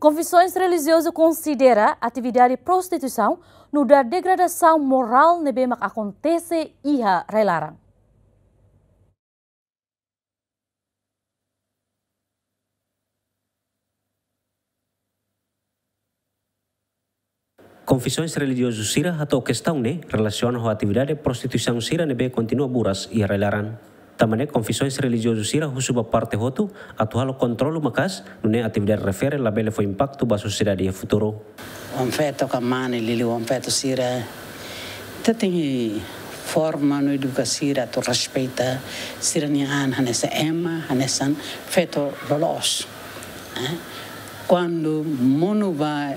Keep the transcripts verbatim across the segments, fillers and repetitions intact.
Konfisoens Relijiozu konsidera atividade prostituisaun nu'udar degradasaun morál ne'ebé mak akontese iha rai-laran. Konfisoens Relijiozu sira hato'o kestaun ne'e relasiona ho atividade prostituisaun sira ne'ebé kontinua buras iha rai-laran. Tanba ne'e Konfisoens Relijiozu sira husu ba parte hotu atu halo kontrolu maka'as, nune'e atividade refere labele fó impaktu ba sosiedade iha futuru. Oan-feto ka mane, liuliu oan-feto sira, ita tenke forma no eduka sira atu respeita sira-nia an hanesan ema, hanesan feto loloos. Eh, kuandu monu ba,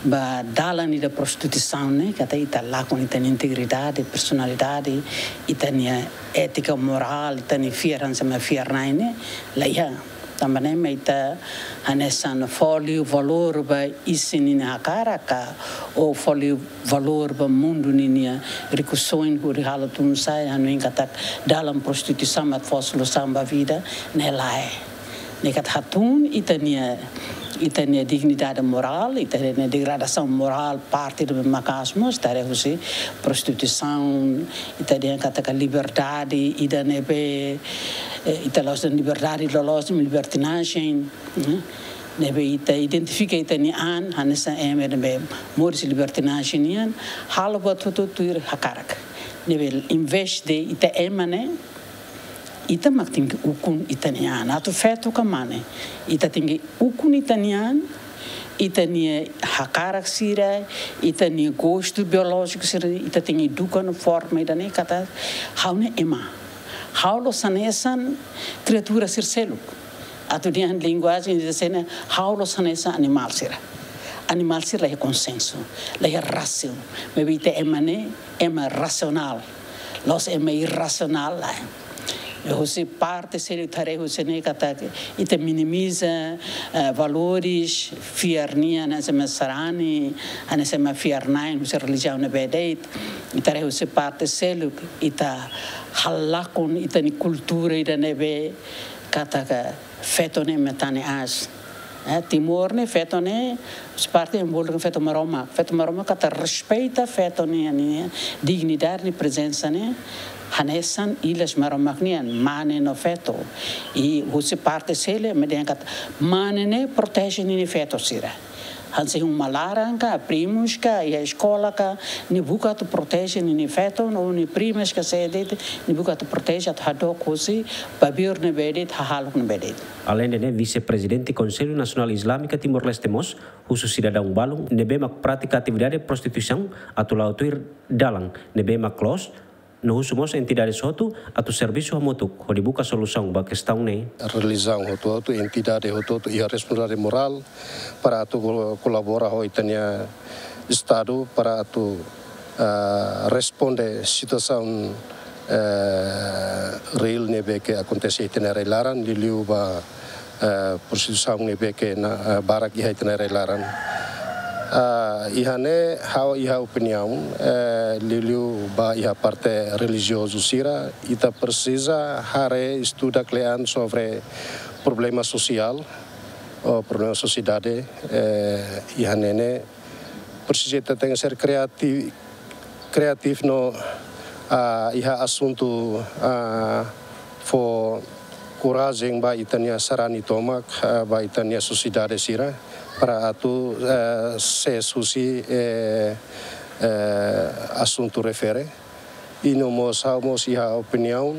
ba dalan ida prostituisaun ne'e, katak ita lakon ita-nia integridade, personalidade, ita-nia étika morál, ita-nia fiar hanesan ema, fiar-na'in ne'e, la iha. Tanba ne'e mak ita hanesan fó liu valór ba isin ninia hakarak ka, ou fó liu valór ba mundu ninia rikusoin hodi halo tun-sa'e, hanoin katak dalan prostituisaun mak fó solusaun ba vida, ne'e lae. Ne'e katak hatún ita-nia, ita-nia dignidade morál, ita-nia degradasaun morál, parte ida maka'as mós, ita haree husi prostituisaun, ita dehan katak liberdade ida ne'ebé, eh, ita la'ós dehan liberdade loloos, libertinajen, eh, ne'ebé ita identifika ita-nia an hanesan ema ne'ebé moris libertinajen nian, halo buat hotu tuir hakarak. Ne'ebé envezde ita ema ne'e, ita mak tenke ukun ita-nia an. Atu feto ka mane, ita tenke ukun ita-nia an, ita-nia hakarak sira, ita-nia gostu biolójiku sira, ita tenke eduka no forma ida ne'e katak ha'u ne'e ema. Ha'u la'ós hanesan kriatura sira seluk. Atu dehan linguajen ida seluk, ha'u la'ós hanesan animál sira. Animál sira la iha konsensu, la iha rasaun. Maibé ita ema ne'e, ema rasionál. La'ós ema irrasionál, lae. Husi parte seluk ita haree husi ne'e katak ita minimiza, eh, valores, fiar nian, hanesan ema sarani, hanesan ema fiar-na'in, husi relijiaun ne'ebé de'it. Ita haree husi parte seluk, ita halakon ita-nia kultura ida ne'ebé katak feto ne'e ema tane aas. Eh, Timor ne'e feto ne'e, husi parte ema bolu feto Maromak. Feto Maromak katak respeita feto nia, nia dignidade, nia prezensa ne'e hanesan ilas Maromak nian, mane no feto. I husi parte seluk ema dehan katak mane ne'e proteje ninia feto sira. Hanesan uma laran ka, primus ka, iha eskola ka, nia buka atu proteje ninia feto, no nia primas ka sé de'it, nia buka atu proteje atu hadook husi babiur ne'ebé de'it, hahalok ne'ebé de'it. Aleinde ne'e, Vise-Prezidente Konsellu Nasionál Izlámika Timor-Leste mós husu sidadaun balun ne'ebé mak pratika atividade prostituisaun atu la'o tuir dalan ne'ebé mak loos, no husu mós entidades hotu atu servisu hamutuk hodi buka solusaun ba kestaun ne'e. Relijiaun hotu-hotu, entidade hotu-hotu iha responsabilidade morál para atu kol-, kolabora ho ita-nia Estadu para atu, ah, responde situasaun, eh, reál ne'ebé ke akontese iha ita-nia rai-laran, liuliu ba, eh, prostituisaun ne'ebé ke na, eh, barak iha ita-nia rai-laran. Ah, iha ne'e ha'u iha opiniaun, eh, liuliu ba iha parte relijiozu sira, ita presiza haree, estuda kle'an sobre problema sosiál, ou problema sosiedade, eh, iha ne'e ne'e presiza ita tenke ser kreati-, kreativu no, ah, iha asuntu, ah, fó korajen ba ita-nia sarani tomak, ah, ba ita-nia sosiedade sira, para atu, eh, sees husi, eh, eh, asuntu refere. I no mós, ha'u mós iha opiniaun,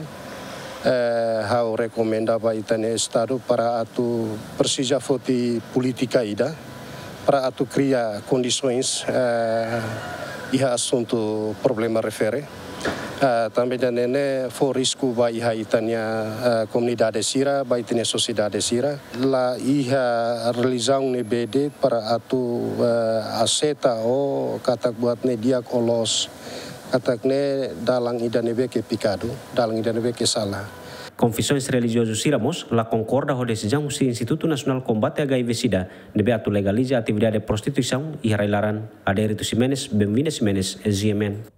eh, ha'u rekomenda ba ita-nia Estadu para atu presiza foti polítika ida, para atu kria kondisoens, eh, iha asuntu problema refere. Eh, tanba ida-ne'e ne'e fó risku ba iha ita-nia, eh, komunidade sira, ba ita-nia sosiedade sira. La iha relijiaun ne'ebé de'it para atu, eh, aseita ou katak buat ne'e di'ak ou loos. Katak ne'e dalan ida ne'ebé ke pekadu, dalan ida ne'ebé ke sala. Konfisoens relijiozu sira mós la konkorda ho desizaun husi Institutu Nasionál Kombate H I V SIDA ne'ebé atu legaliza atividade prostituisaun iha rai-laran. Adérito Ximenes, Benvinda Ximenes, G M N.